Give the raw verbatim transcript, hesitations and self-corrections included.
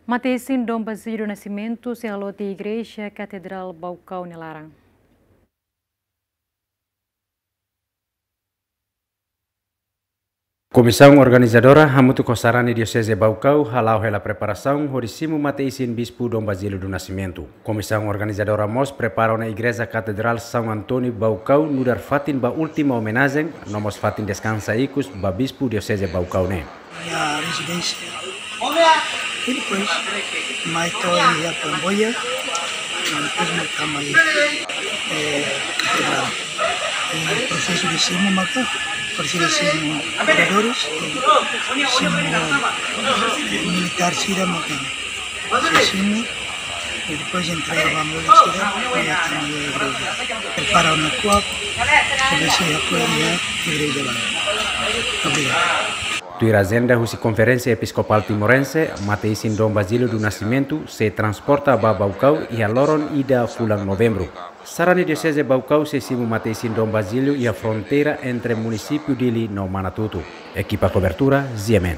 Mate-isin Dom Basílio do Nascimento sei haloot iha Igreja Katedrál Baucau nia laran. Komisaun organizadora hamutuk ho sarani Dioseze Baucau hala'o hela preparasaun hodi simu mate-isin Bispu Dom Basílio do Nascimento. Komisaun organizadora mós prepara ona Igreja Katedrál São António Baucau nu'udar fatin ba última omenajen, no mós fatin deskansa ikus ba Bispu Dioseze Baucau ne'e. Minha residência. E depois, mai to'o iha Camboja, no depois mai tama iha, eh, Katedrál. E prosesu de simu maka, prosesu de simu moradores, simu, eh, militár sira maka. Se simu, e depois entrega ba moradores sira, mai tama iha igreja. Prepara ona kuak, para sei apoia igreja ba. Obrigadu. Tuir ajenda husi Konferénsia Episkopál Timorense, mate-isin Dom Basílio do Nascimento sei transporta ba Baucau iha loron ida fulan Novembru. Sarani Dioseze Baucau sei simu mate-isin Dom Basílio iha fronteira entre munisípiu Dili no Manatuto. Ekipa kobertura, G M N.